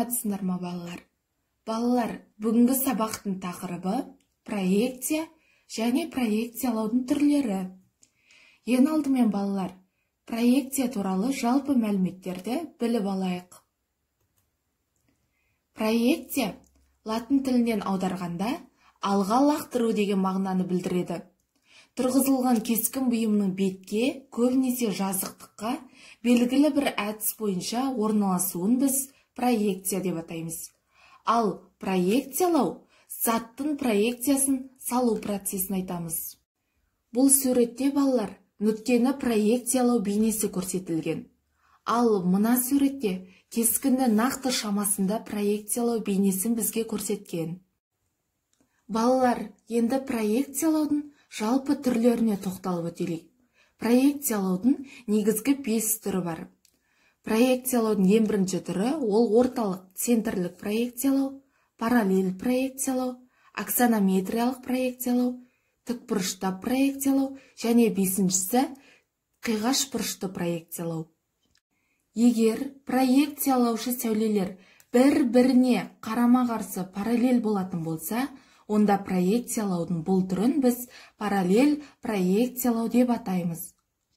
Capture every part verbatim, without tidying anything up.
саламатсыздар ма балалар? Балалар, бүгінгі сабақтың тақырыбы проекция және проекциялаудың түрлері. Ең алдымен балалар, проекция туралы жалпы мәліметтерді біліп алайық. Проекция латын тілінен аударғанда алға лақтыру деген мағынаны білдіреді. Тұрғызылған кескін бұйымның бетке, көбінесе жазықтыққа, белгілі бір әдіс бойынша орналасуын біз проекция деп атаймыз. Ал проекциялау заттың проекциясын салу процесін айтамыз. Бұл суретте балалар нүктені проекциялау бейнесі көрсетілген. Ал мына суретте кескінді нақты шамасында проекциялау бейнесін бізге көрсеткен. Балалар, енді проекциялаудың жалпы түрлеріне тоқталып өтелік. Проекциялаудың негізгі бес түрі бар. Проекциялаудың ең бірінші түрі ол орталық центрлік проекциялау, параллель проекциялау, аксонометриялық проекциялау, тікбұрыштап проекциялау және бесіншісі қиғаш бұрышты проекциялау. Егер проекциялаушы сәулелер бір-біріне қарама-қарсы параллель болатын болса, онда проекциялаудың бұл түрін біз параллель проекциялау деп атаймыз.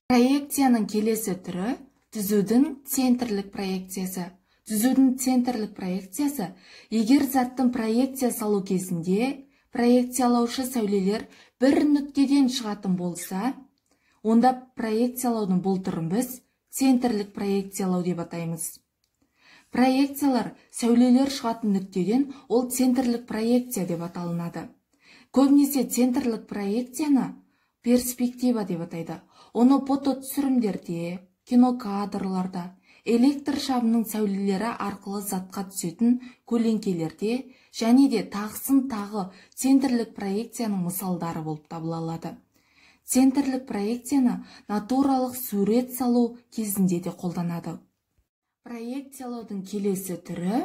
Проекцияның келесі түрі түзудің центрлік проекциясы. Түзудің центрлік проекциясы, егер заттың проекция салу кезінде проекциялаушы сәулелер бір нүктеден шығатын болса, онда проекциялаудың бұл түрін біз центрлік проекциялау деп атаймыз. Проекциялар сәулелер шығатын нүктеден ол центрлік проекция деп аталынады. Көбінесе центрлік проекцияны перспектива деп атайды. Оны фототүсірімдерде, кинокадрларда, электр шамының сәулелері арқылы затқа түсетін көлеңкелерде және де тағысын тағы центрлік проекцияның мысалдары болып табылады. Центрлік проекцияны натуралық сурет салу кезінде де қолданады. Проекциялаудың келесі түрі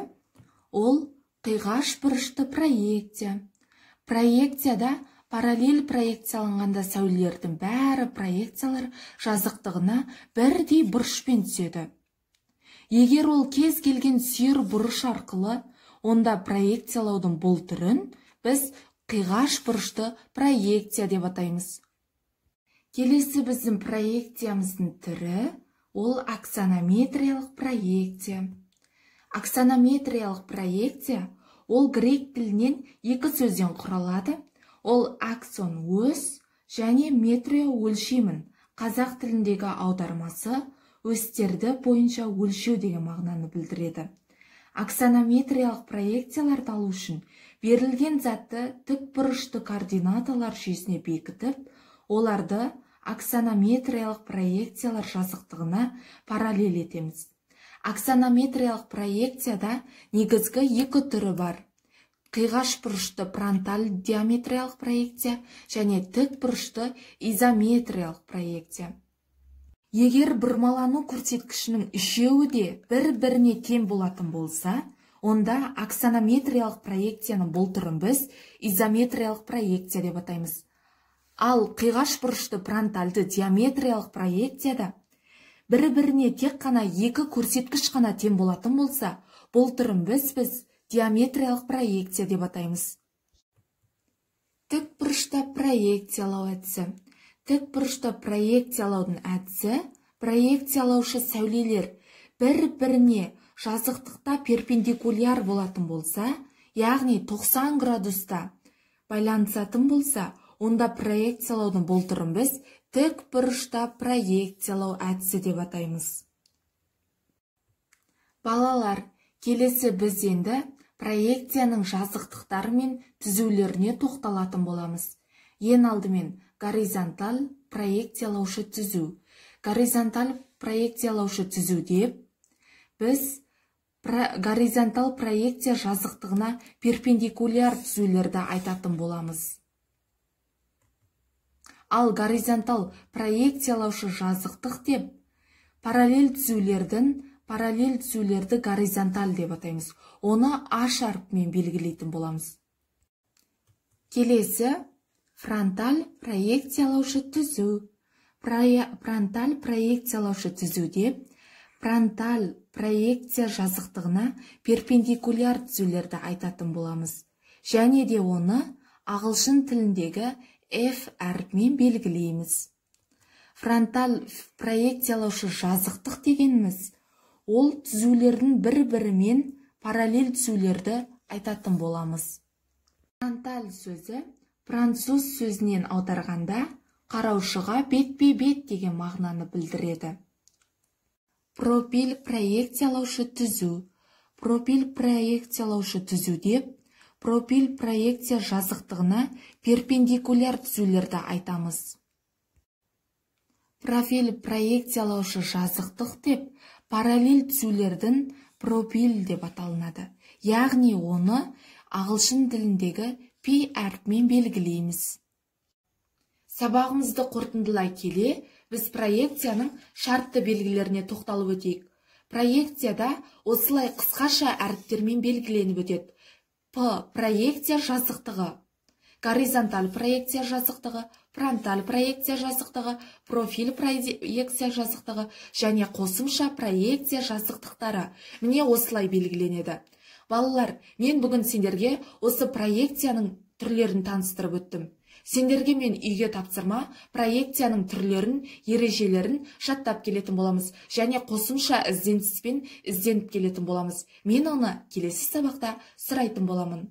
ол қиғаш бұрышты проекция. Проекцияда параллель проекцияланғанда сәулелердің бәрі проекциялар жазықтығына бірдей бұрышпен түседі. Егер ол кез келген сүйір бұрыш арқылы, онда проекциялаудың бұл түрін біз қиғаш бұрышты проекция деп атаймыз. Келесі біздің проекциямыздың түрі ол аксонометриялық проекция. Аксонометриялық проекция ол грек тілінен екі сөзден құралады. Ол аксон ось және метрио өлшемін. Қазақ тіліндегі аудармасы осьтерді бойынша өлшеу деген мағынаны білдіреді. Аксонометриялық проекцияларды алу үшін берілген затты тікбұрышты координаталар жүйесіне бекітіп, оларды аксонометриялық проекциялар жазықтығына параллель етеміз. Аксонометриялық проекцияда негізгі екі түрі бар. Қиғаш бұрышты фронталь диаметриялық проекция және тік бұрышты изометриялық проекция. Егер бұрмалану көрсеткішінің үшеуі де бір-біріне тең болатын болса, онда аксонометриялық проекцияның бұл түрін біз изометриялық проекция деп атаймыз. Ал қиғаш бұрышты фронтальды диаметриялық проекцияда бір-біріне тек қана екі көрсеткіш қана тең болатын болса, бұл түрін біз біз диаметриялық проекция деп атаймыз. Тік бұрышта проекциялау әдісі. Тік бұрышта проекциялаудың әдісі проекциялаушы сәулелер бір-біріне жазықтықта перпендикуляр болатын болса, яғни тоқсан градуста байланысатын болса, онда проекциялаудың бұл түрін біз тік бұрышта проекциялау әдісі деп атаймыз. Балалар, келесі біз енді проекцияның жазықтықтары мен түзулеріне тоқталатын боламыз. Ең алдымен горизонталь проекциялаушы түзу. Горизонталь проекциялаушы түзу деп біз горизонталь проекция жазықтығына перпендикуляр түзулерді айтатын боламыз. Ал горизонталь проекциялаушы жазықтық деп параллель түзулердің параллель түзулерді горизонталь деп атаймыз. Оны аш әріпімен белгілейтін боламыз. Келесі фронталь проекциялаушы түзу. Фронталь проекциялаушы түзу деп фронталь проекция жазықтығына перпендикуляр түзулерді айтатын боламыз. Және де оны ағылшын тіліндегі F әрпімен белгілейміз. Фронталь проекциялаушы жазықтық дегеніміз ол түзулердің бір-бірімен параллель түзулерді айтатын боламыз. Фронталь сөзі француз сөзінен аударғанда қараушыға бетпе-бет деген мағынаны білдіреді. Профиль проекциялаушы түзу. Профиль проекциялаушы түзу деп, профиль проекция жазықтығына перпендикуляр түзулерді айтамыз. Профиль проекциялаушы жазықтық деп, параллель түзулердің профиль деп аталынады. Яғни оны ағылшын тіліндегі P әрпімен белгілейміз. Сабағымызды қорытындылай келе, біз проекцияның шартты белгілеріне тоқталып өтейік. Проекцияда осылай қысқаша әріптермен белгіленіп өтеді. P проекция жазықтығы, горизонталь проекция жазықтығы, фронталь проекция жазықтығы, профиль проекция жазықтығы және қосымша проекция жазықтықтары. Міне осылай белгіленеді. Балалар, мен бүгін сендерге осы проекцияның түрлерін таныстырып өттім. Сендерге мен үйге тапсырма проекцияның түрлерін, ережелерін жаттап келетін боламыз және қосымша ізденіспен ізденіп келетін боламыз. Мен оны келесі сабақта сұрайтын боламын.